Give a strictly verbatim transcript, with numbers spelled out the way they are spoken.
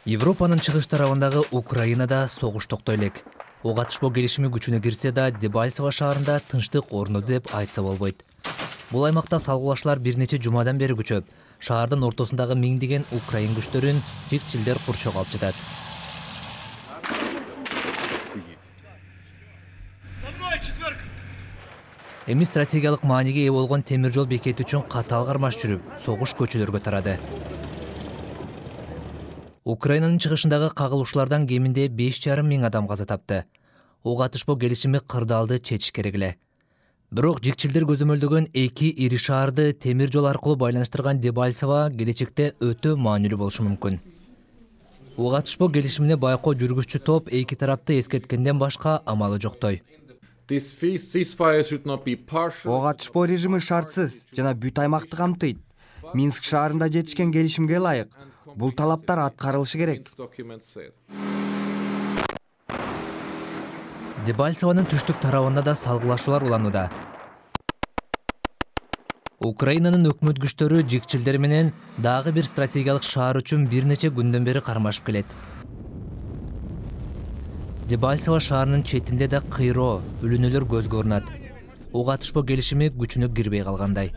Европанын чыгыш тарабындагы Украинада согуш токтой элек. Ок атышпоо келишими күчүнө кирсе да, Дебальцево шаарында тынчтык орноду деп айтса болбойт. Бул аймакта салгылашуулар бир нече жумадан бери күчөп, шаардын ортосундагы миңдеген украин күчтөрүн жикчилдер курчоого алып жатат. Эми стратегиялык мааниге ээ болгон темир жол бекети үчүн катаал кармаш жүрүп, согуш көчөлөргө тарады. Украинанын чыгышындагы кагылышуулардан кеминде беш жарым миң адам каза тапты. Ок атышпоо келишими кырдаалды чечиш керек эле. Бирок жикчилдер көзөмөлдөгөн эки ири шаарды темир жол аркылуу байланыштырган Дебальцево келечекте өтө маанилүү болушу мүмкүн. Ок атышпоо келишимине байкоо жүргүзчү топ эки тарапты эскерткенден башка амалы жоктой. Ок атышпоо режими шартсыз жана бүт аймакты камтыйт. Минск шаарында жетишкен келишимге ылайык бул талаптар аткарылышы керек. Дебальцевонун түштүк тарабында да салгылашуулар уланууда. Украинанын өкмөт күчтөрү жикчилдер менен дагы бир стратегиялык шаар үчүн бир нече күндөн бери кармашып келет. Дебальцево шаарынын четинде да кыйроо, үлүнүүлөр көзгө урунат. Ок атышпоо келишими күчүнө кирбей калгандай.